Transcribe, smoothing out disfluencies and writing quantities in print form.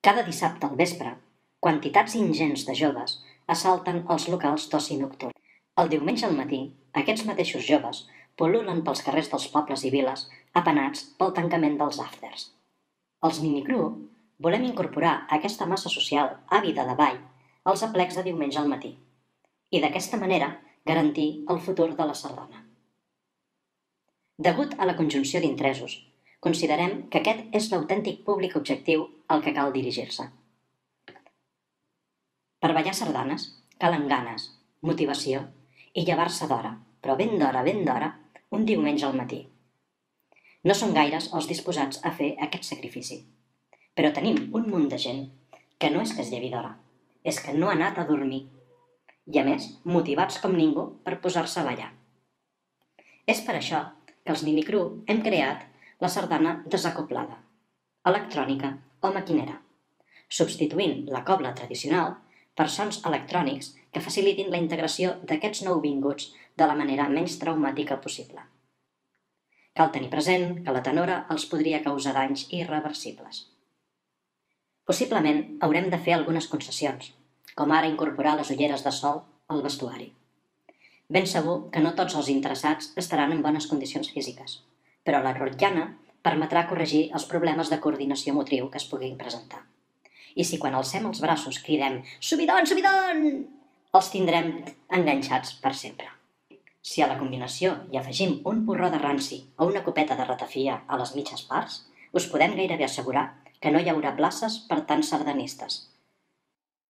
Cada dissabte al vespre, quantitats ingents de joves assalten els locals d'oci nocturn. El diumenge al matí, aquests mateixos joves pol·lulen pels carrers dels pobles i viles apenats pel tancament dels afters. Els minicru volem incorporar aquesta massa social àvida de ball als aplecs de diumenge al matí i d'aquesta manera garantir el futur de la sardana. Degut a la conjunció d'interessos, considerem que aquest és l'autèntic públic objectiu al que cal dirigir-se. Per ballar sardanes calen ganes, motivació i llevar-se d'hora, però ben d'hora, un diumenge al matí. No són gaires els disposats a fer aquest sacrifici, però tenim un munt de gent que no és que es llevi d'hora, és que no ha anat a dormir i, a més, motivats com ningú per posar-se a ballar. És per això que els minicru hem creat la sardana desacoblada, electrònica o maquinera, substituint la cobla tradicional per sons electrònics que facilitin la integració d'aquests nouvinguts de la manera menys traumàtica possible. Cal tenir present que la tenora els podria causar danys irreversibles. Possiblement haurem de fer algunes concessions, com ara incorporar les ulleres de sol al vestuari. Ben segur que no tots els interessats estaran en bones condicions físiques, però la rotllana permetrà corregir els problemes de coordinació motriu que es puguin presentar. I si quan alcem els braços cridem «Subidon, subidon!», els tindrem enganxats per sempre. Si a la combinació hi afegim un porró de ranci o una copeta de ratafia a les mitges parts, us podem gairebé assegurar que no hi haurà places per tants sardanistes,